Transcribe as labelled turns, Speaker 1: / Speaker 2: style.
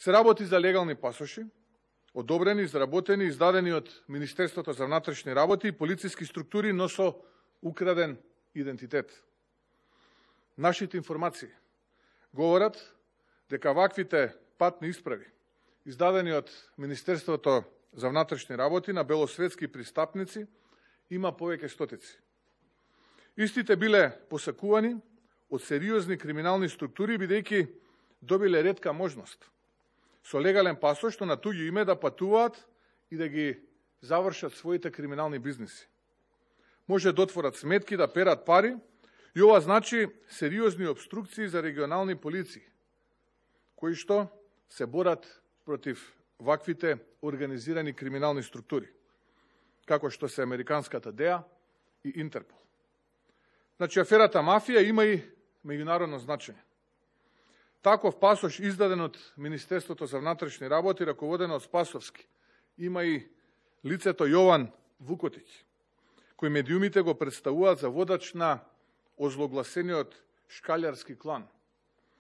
Speaker 1: се работи за легални пасоши, одобрени, изработени, издадени од Министерството за внатрешни работи и полициски структури, но со украден идентитет. Нашите информации говорат дека ваквите патни исправи, издадени од Министерството за внатрешни работи на белосветски пристапници, има повеќе стотици. Истите биле посакувани од сериозни криминални структури, бидејќи добиле ретка можност со легален пасош на туѓо име да патуваат и да ги завршат своите криминални бизниси. Може да отворат сметки, да перат пари, и ова значи сериозни обструкции за регионални полиции, кои што се борат против ваквите организирани криминални структури, како што се американската ДЕА и Интерпол. Значи, аферата мафија има и меѓународно значење. Таков пасош издаден од Министерството за внатрешни работи, раководено од Спасовски, има и лицето Јован Вукотиќ, кој медиумите го представуваат за водач на озлогласениот шкалјарски клан.